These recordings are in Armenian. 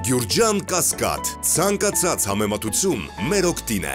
Գյուրջան Կասկադ, ցանկացած համեմատություն մեր օգտին է։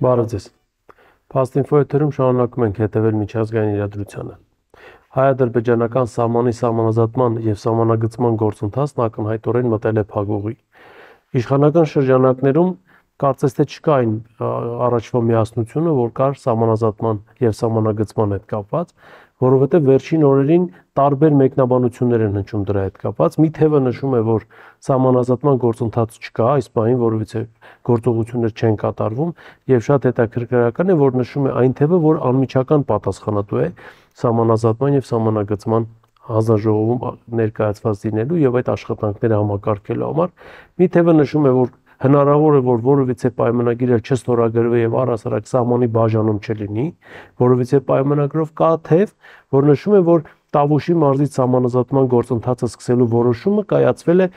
Բարև ձեզ։ Փաստինֆո եթերում շարունակում ենք հետևել միջազգային իրադրությանը։ Հայ-ադրբեջանական սահմանի սահմանազատման և սահմանագծման գործընթացն ակնհայտորեն մտել է փակուղի։ Իշխանական շրջանակներում կարծես թե չկա այն առաջվա միասնությունը, որ կար սահմանազատման և սահմանագծման հետ կապված, որովհետև վերջին օրերին տարբեր մեկնաբանություններ են հնչում դրա հետ կապված։ Մի թևը նշում է, որ սահմանազատման գործընթաց չկա, այս պահին որևիցե գործողություններ չեն կատարվում, եւ շատ հետաքրքրական է, որ նշում է այն թևը, որ անմիջական պատասխանատու է սահմանազատման եւ սահմանագծման հանձնաժողովում ներկայացված լինելու եւ այդ աշխատանքները համակարգելու համար։ Մի թևը նշում է, որ հնարավոր է, որ որևիցե պայմանագիր չստորագրվի եւ առհասարակ սահմանի բաժանում չլինի, որովհետեւ պայմանագրով կա թեւ, որ նշում է, որ Տավուշի մարզից սահմանազատման գործընթացը սկսելու որոշումը կայացվել է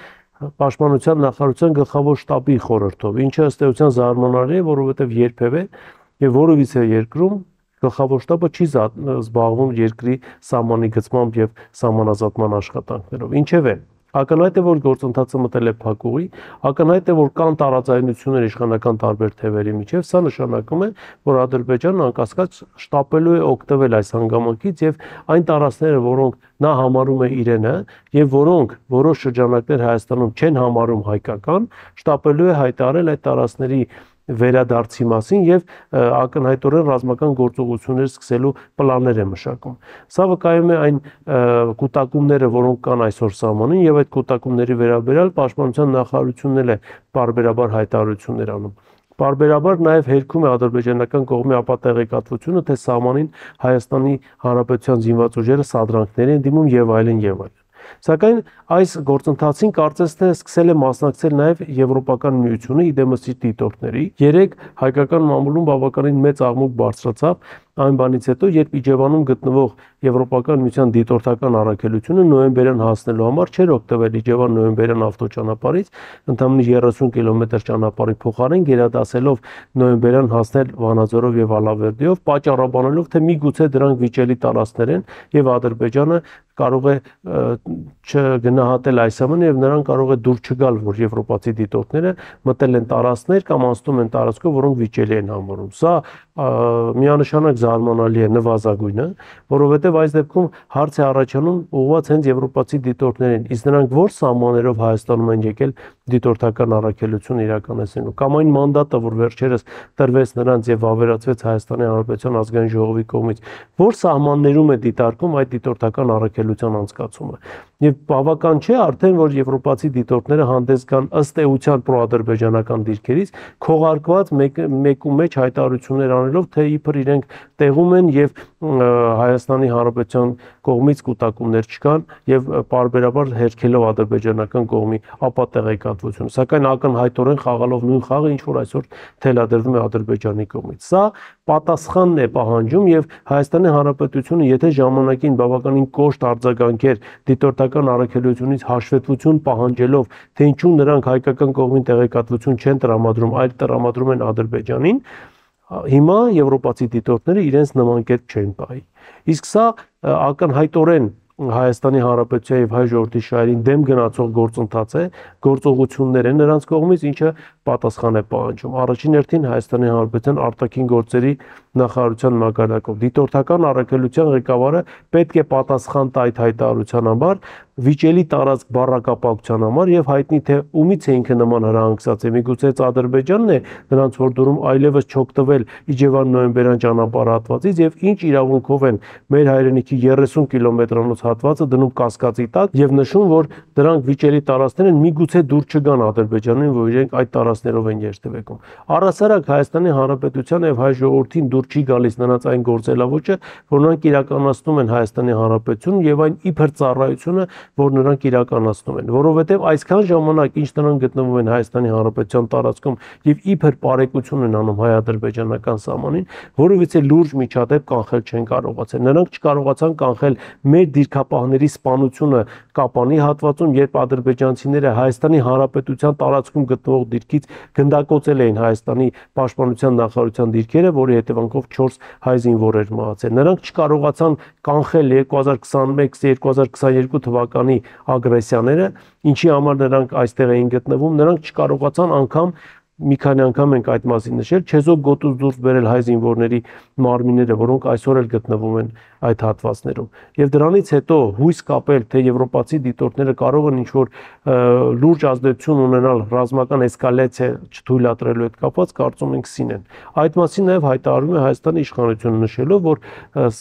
Պաշտպանության նախարարության գլխավոր շտաբի խորհրդով, ինչը ըստ էության զարմանալի է, որովհետեւ երբևէ եւ որևիցե երկրում գլխավոր շտաբը չի զբաղվում երկրի սահմանի գծմամբ եւ սահմանազատման աշխատանքներով։ Ինչևէ, ակնհայտ է, որ գործընթացը մտել է փակուղի, ակնհայտ է, որ կան տարաձայնություններ իշխանական տարբեր թևերի միջև, սա նշանակում է, որ Ադրբեջանն անկասկած շտապելու է օգտվել այս հանգամանքից եւ այն տարածքները, որոնք նա համարում է իրենը եւ որոնք որոշ շրջանակներ Հայաստանում չեն համարում հայկական, շտապելու է հայտարարել այդ տարածքների վերադարձի մասին եւ ակնհայտորեն ռազմական գործողություններ սկսելու պլաններ է մշակում։ Սա վկայում է այն կուտակումները, որոնք կան այսօր սահմանին եւ այդ կուտակումների վերաբերյալ Պաշտպանության նախարարությունն էլ է բարբերաբար հայտարարություններ անում։ Բարբերաբար նաև հերքում է ադրբեջանական կողմի ապատեղեկատվությունը, թե սահմանին Հայաստանի Հանրապետության զինված ուժերը սադրանքներ են դիմում եւ այլն եւ այլն։ Սակայն այս գործընթացին կարծես թե սկսել է մասնակցել նաև Եվրոպական միությունը իդեմս իր դիտորդների։ Երեք հայկական մամուլում բավականին մեծ աղմուկ բարձրացավ այն բանից հետո, երբ Իջևանում գտնվող Եվրոպական միության դիտորդական առաքելությունը նոյեմբերյան հասնելու համար չէր օգտվել Իջևան-նոյեմբերյան ավտոճանապարհից, ընդամենը 30 կիլոմետր ճանապարհի փոխարեն գերադասելով նոյեմբերյան հասնել Վանաձորով եւ Ալավերդիով, պատճառաբանելով, թե միգուցե դրանք վիճելի տարածքներ են եւ Ադրբեջանը կարող է չգնահատել այս ամենը եւ նրան կարող է դուր չգալ, որ եվրոպացի դիտորդները մտել են տարածքներ կամ անցնում են տարածքով, որոնք վիճելի են համարում։ Սա միանշանակ զարմանալի է նվազագույնը, որովհետև այս դեպքում հարց է առաջանում ուղղված հենց եվրոպացի դիտորդներին, իսկ նրանք որ սահմաններով Հայաստանում են եկել դիտորդական առաքելություն իրականացնելու, կամ այն մանդատը, որ վերջերս տրվեց նրանց եւ ավերացվեց Հայաստանի Հանրապետության ազգային ժողովի կողմից, որ սահմաններում է դիտարկում այդ դիտորդական առաքելության անցկացումը։ Եվ բավական չէ արդեն, որ եվրոպացի դիտորդները հանդես գան ըստ էության պրոադրբեջանական դիրքերից, քողարկված մեկ հայտարարություններ անելով, թե իբր իրենք տեղում են եւ Հայաստանի Հանրապետության կողմից կուտակումներ չկան եւ պարբերաբար հերքելով ադրբեջանական կողմի ապատեղեկատվությունը, սակայն ակնհայտորեն խաղալով նույն խաղը, ինչ որ այսօր թելադրվում է Ադրբեջանի կողմից։ Սա պատասխանն է պահանջում եւ Հայաստանի Հանրապետությունը, եթե ժամանակին բավականին կոշտ արձագանքեր դիտորդական առաքելությունից հաշվետվություն պահանջելով, թե ինչու նրանք հայկական կողմին տեղեկատվություն չեն տրամադրում, այլ տրամադրում են Ադրբեջանին, հիմա եվրոպացի դիտորդները իրենց նման կերպ չեն պահի։ Իսկ սա ակնհայտորեն Հայաստանի Հանրապետության եւ հայ ժողովրդի շահերին դեմ գնացող գործընթաց է, գործողություններ են նրանց կողմից, ինչը պատասխան է պահանջում։ Առաջին հերթին Հայաստանի Հանրապետության արտաքին գործերի նախարարության մակարդակով դիտորդական առաքելության ղեկավարը պետք է պատասխան տա այդ հայտարարության համար, վիճելի տարածք բառակապակցության համար եւ հայտնի թե ումից է ինքը նման հրահանգստացել։ Միգուցե Ադրբեջանն է նրանց որդորում այլևս չօգտվել Իջևան-նոյեմբերյան ճանապարհատվածից եւ ինչ իրավունքով են մեր հայրենիքի 30 կիլոմետրանոց հատվածը դնում կասկածի տակ եւ նշում, որ դրանք վիճելի տարածքներ են, միգուցե դուր չգան Ադրբեջանին, որ իրենք այդ տարածքներով են երթևեկում։ Առհասարակ Հայաստանի Հանրապետության եւ հայ ժողովրդին դուր չի գալիս նրանց այն գործելավոճը, որ նրանք իրականացնում են Հայաստանի Հանրապետությունում եւ այն իբր ծառայությունը, որ նրանք իրականացնում են, որովհետեւ այսքան ժամանակ ինչ նրանք գտնվում են Հայաստանի Հանրապետության տարածքում եւ իբր բարեկություն են անում հայ-ադրբեջանական սահմանին, որովհետեւ լուրջ միջադեպ կանխել չեն կարողացել։ Նրանք չկարողացան կանխել մեր դիրքապահների սպանությունը Կապանի հատվածում, երբ ադրբեջանցիները Հայաստանի Հանրապետության տարածքում գտնվող դիրքից կողմից գնդակոծել էին Հայաստանի պաշտպանության նախարարության դիրքերը, որի հետևանքով 4 հայ զինվորեր մահացել։ Նրանք չկարողացան կանխել 2021-2022 թվականի ագրեսիաները, ինչի համար նրանք այստեղ էին գտնվում, նրանք չկարողացան անգամ մի քանի անգամ ենք այդ մասին նշել, չեզոք գոտուց դուրս բերել հայ զինվորների մարմինները, որոնք այսօր էլ գտնվում են այդ հատվածներում։ Եվ դրանից հետո հույս կապել, թե եվրոպացի դիտորդները կարող են ինչ-որ լուրջ ազդեցություն ունենալ ռազմական էսկալացիա չթույլատրելու հետ կապված, կարծում ենք սին են։ Այդ մասին նաև հայտարարում է Հայաստանի իշխանությունը, նշելով, որ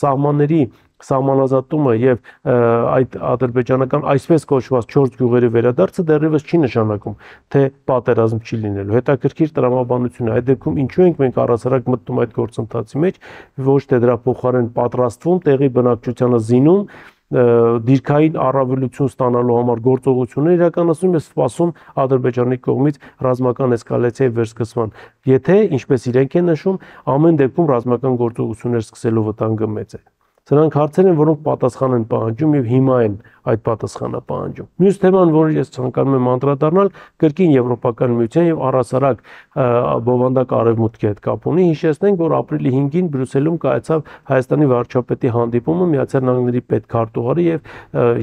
սահմանների սահմանազատումը եւ այդ ադրբեջանական այսպես կոչված 4 գյուղերի վերադարձը դեռևս չի նշանակում, թե պատերազմ չի լինելու։ Հետաքրքիր տրամաբանություն է։ Այդ դեպքում ինչու ենք մենք առասարակ մտնում այդ գործընթացի մեջ, ոչ թե դրա փոխարեն պատրաստվում, տեղի բնակչությանը զինում, դիրքային առավելություն ստանալու համար գործողություններ իրականացնում եւ սպասում Ադրբեջանի կողմից ռազմական էսկալացիայի վերսկսման։ Եթե, ինչպես իրենք են նշում, ամեն դեպքում ռազմական գործողություններ սկսելու վտանգը մեծ է։ Սրանք հարցեր են, որոնք պատասխան են պահանջում եւ հիմա են այդ պատասխանը պահանջում։ Մյուս թեման, որը ես ցանկանում եմ անդրադառնալ, կրկին Եվրոպական միության եւ առասարակ բովանդակ արևմուտքի հետ կապ ունի։ Հիշեցնենք, որ ապրիլի 5-ին Բրյուսելում կայացավ Հայաստանի վարչապետի հանդիպումը Միացյալ Նահանգների պետքարտուղարի եւ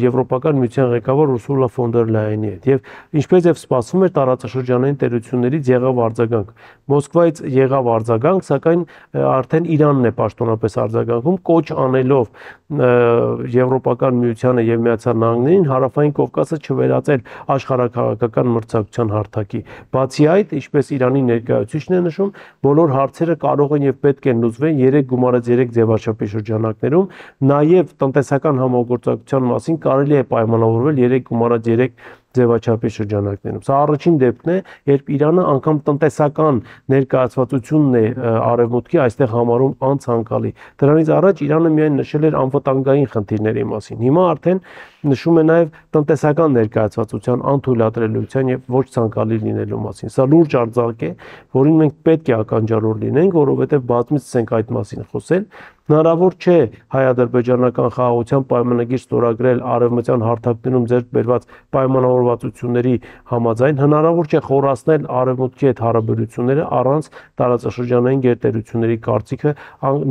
Եվրոպական միության ղեկավար Ուրսուլա ֆոն դեր Լայենի հետ։ Եվ ինչպես եւ սպասվում էր, տարածաշրջանային տերություններից եղավ արձագանք։ Մոսկվայից եղավ արձագանք, սակայն արդեն Իրանն է պաշտոնապես արձագանքում, կոչ անելով Եվրոպական միությանը եւ Միացյալ Նահանգներին Հարավային Կովկասը չվերածել աշխարհաքաղաքական մրցակցության հարթակի։ Բացի այդ, ինչպես Իրանի ներկայացուցիչն է նշում, բոլոր հարցերը կարող են եւ պետք են լուծվել 3 գումարած 3 ձևաչափի շրջանակներում, նաեւ տնտեսական համագործակցության մասին կարելի է պայմանավորվել 3 գումարած 3 ձևաչափի շրջանակներում։ Սա առաջին դեպքն է, երբ Իրանը անգամ տնտեսական ներկայացվածությունն է արևմուտքի այստեղ համարում անցանկալի։ Դրանից առաջ Իրանը միայն նշել էր անվտանգային խնդիրների մասին։ Հիմա արդեն նշում է նաև տնտեսական ներկայացվածության անթույլատրելիության եւ ոչ ցանկալի լինելու մասին։ Սա լուրջ արձակ է, որին մենք պետք է ականջալուր լինենք, որովհետեւ բազմիցս ենք այդ մասին խոսել։ Հնարավոր չէ հայ-ադրբեջանական խաղաղության պայմանագիր ստորագրել արևմտյան հարթակներում ձեռք բերված պայմանավորվածությունների համաձայն, հնարավոր չէ խորացնել արևմուտքի հետ հարաբերությունները առանց տարածաշրջանային գերտերությունների կարծիքը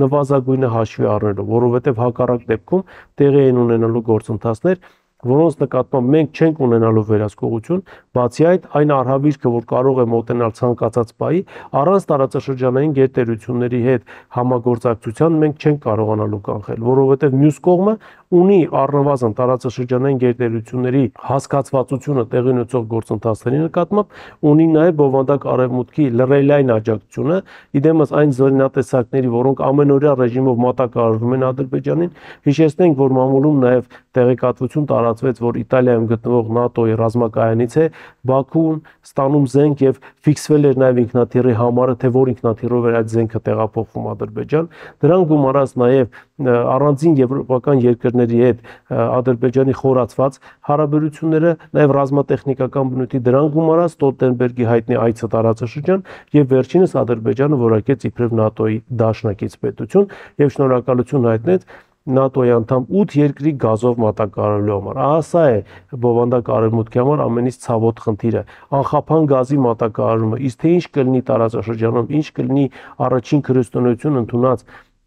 նվազագույնը հաշվի առնելով, որովհետև հակառակ դեպքում տեղի են ունենալու գործընթացներ, որոնց նկատմամբ մենք չենք ունենալու վերահսկողություն, բացի այդ այն արհավիրքը, որ կարող է մոտենալ ցանկացած պահի, առանց տարածաշրջանային գերտերությունների հետ համագործակցության մենք չենք կարողանալու կանխել, որովհետև մյուս կողմը ունի առնվազն տարածաշրջանային գերտերությունների հասկացվածությունը տեղի ունեցող գործընթացների նկատմամբ, ունի նաև բովանդակ արևմուտքի լրելային աջակցությունը, իդեմս այն զորինատեսակների, որոնք ամենօրյա ռեժիմով մատակարարվում են Ադրբեջանին, հիշեցնենք, որ մամուլում նաև տեղեկատվություն տարածվեց, որ Իտալիայում գտնվող ՆԱՏՕ-ի ռազմակայանից է Բաքուն ստանում զենք եւ ֆիքսվել էր նաեւ ինքնաթիռի համարը, թե որ ինքնաթիռով էր այդ զենքը տեղափոխվում Ադրբեջան։ Դրան գումարած նաեւ առանձին եվրոպական երկրների հետ Ադրբեջանի խորացված հարաբերությունները, նաեւ ռազմատեխնիկական բնույթի դրան գումարած Ստոլտենբերգի հայտնի այցը տարածաշրջան եւ վերջինս Ադրբեջանը որակեց իբրև ՆԱՏՕ-ի դաշնակից պետություն եւ շնորհակալություն հայտնեց ՆԱՏՕ-ի անդամ 8 երկրի գազով մատակարարելու համար։ Ահա սա է բովանդակ արևմուտքի համար ամենից ցավոտ խնդիրը։ Անխափան գազի մատակարարումը, իսկ թե ինչ կլինի տարածաշրջանում, ինչ կլինի առաջին քրիստոնեություն ընդունած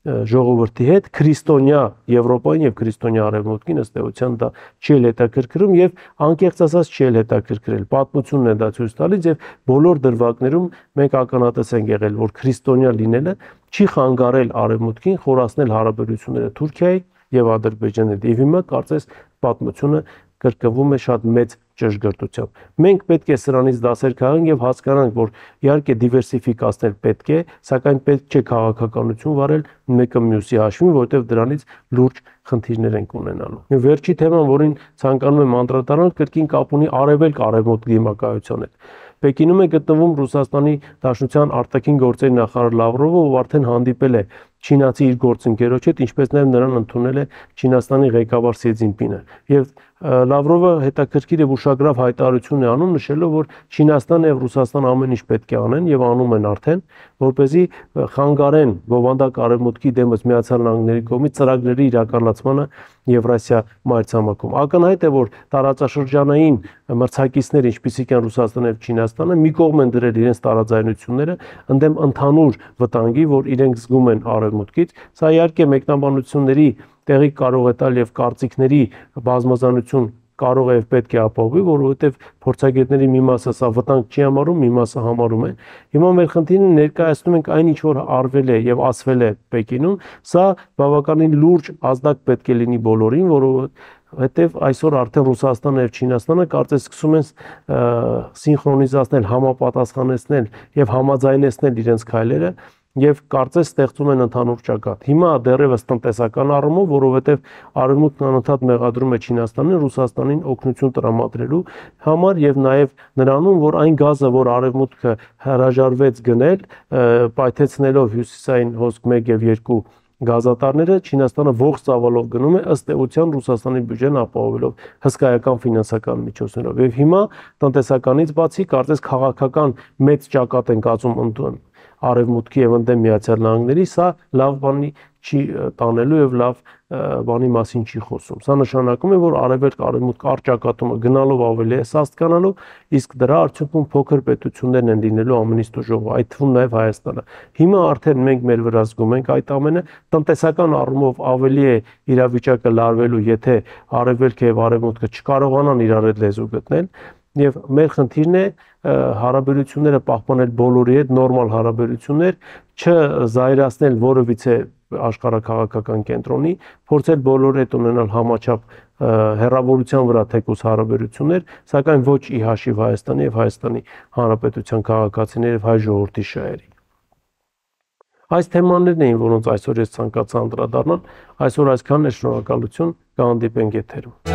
ժողովրդի հետ, քրիստոնյա Եվրոպային եւ քրիստոնյա արևմուտքին ըստ էության դա չի էլ հետաքրքրում եւ անկեղծ ասած չի էլ հետաքրքրել։ Պատմությունն է դա ցույց տալիս եւ բոլոր դրվագներում մենք ականատես ենք եղել, որ քրիստոնյա լինելը չի խանգարել արևմուտքին խորացնել հարաբերությունները Թուրքիայի եւ Ադրբեջանի հետ։ Եվ հիմա կարծես պատմությունը կրկնվում է շատ մեծ ճշգրտությամբ։ Մենք պետք է սրանից դասեր քաղենք եւ հասկանանք, որ իհարկե դիվերսիֆիկացնել պետք է, սակայն պետք չէ քաղաքականություն վարել մեկը մյուսի հաշվին, որովհետեւ դրանից լուրջ խնդիրներ ենք ունենալու։ Եվ վերջի թեման, որին ցանկանում եմ անդրադառնալ, կրկին կապ ունի արևելք-արևմուտք դիմակայության հետ։ Պեկինում է գտնվում Ռուսաստանի Դաշնության արտաքին գործերի նախարար Լավրովը, ով արդեն հանդիպել է չինացի իր գործընկերոջ հետ, ինչպես նաև նրան ընդունել է Չինաստանի ղեկավար Սի Ցզինպինը։ Եվ Լավրովը հետաքրքիր եւ ուշագրավ հայտարարություն է անում, նշելով, որ Չինաստանը եւ Ռուսաստանը ամեն ինչ պետք է անեն եւ անում են արդեն, որպեսզի խանգարեն բովանդակ արևմուտքի դեմս Միացյալ Նահանգների կողմից ծրագրերի իրականացմանը Եվրասիա մայրցամաքում։ Ակնհայտ է, որ տարածաշրջանային մրցակիցներ, ինչպիսիք են Ռուսաստանը եւ Չինաստանը, մի կողմ են դրել իրենց տարաձայնությունները ընդդեմ ընդհանուր վտանգի, որ իրենք զգում են արևմուտքից։ Սա իհարկե մեկնաբանությունների տեղի կարող է տալ եւ կարծիքների բազմազանություն կարող է եւ պետք է ապահովի, որովհետեւ փորձագետների մի մասը սա վտանգ չի համարում, մի մասը համարում է։ Հիմա մեր խնդիրը ներկայացնում ենք այն ինչ որ արվել է եւ ասվել է Պեկինում, սա բավականին լուրջ ազդակ պետք է լինի բոլորին, որովհետեւ այսօր արդեն Ռուսաստանը եւ Չինաստանը կարծես սկսում են սինխրոնիզացնել, համապատասխանեցնել եւ համաձայնեցնել իրենց քայլերը եւ կարծես ստեղծում են ընդհանուր ճակատ։ Հիմա դեռևս տնտեսական առումով, որովհետեւ արևմուտքն անընդհատ մեղադրում է Չինաստանին, Ռուսաստանին օգնություն տրամադրելու համար եւ նաեւ նրանում, որ այն գազը, որ արևմուտքը հրաժարվեց գնել, պայթեցնելով հյուսիսային հոսք 1 եւ 2 գազատարները, Չինաստանը ողջ ծավալով գնում է ըստ էության Ռուսաստանի բյուջեն ապահովելով հսկայական ֆինանսական միջոցներով։ Եվ հիմա տնտեսականից բացի կարծես քաղաքական մեծ ճակատ են կազմում արևմուտքի եւ ընդդեմ Միացյալ Նահանգների, սա լավ բանի չի տանելու եւ լավ բանի մասին չի խոսում։ Սա նշանակում է, որ արևելք-արևմուտք արճակատումը գնալով ավելի է սաստկանալու, իսկ դրա արդյունքում փոքր պետություններն են լինելու ամենից դժողքը, այդ թվում նաեւ Հայաստանը։ Հիմա արդեն մենք մեր վրա զգում ենք այդ ամենը, տնտեսական առումով ավելի է իրավիճակը լարվելու, եթե արևելքը եւ արևմուտքը չկարողանան իրար հետ լեզու գտնել։ Եվ մեր խնդիրն է հարաբերությունները պահպանել բոլորի հետ, նորմալ հարաբերություններ, չզայրացնել որևիցե աշխարհաքաղաքական կենտրոնի, փորձել բոլորի հետ ունենալ համաչափ հեռավորության վրա թեկուզ հարաբերություններ, սակայն ոչ ի հաշիվ Հայաստանի եւ Հայաստանի Հանրապետության քաղաքացիների եւ հայ ժողովրդի շահերի։ Այս թեմաներն էին, որոնց այսօր ես ցանկացա անդրադառնալ, այսօր այսքանն է, շնորհակալություն, կհանդիպենք եթերում։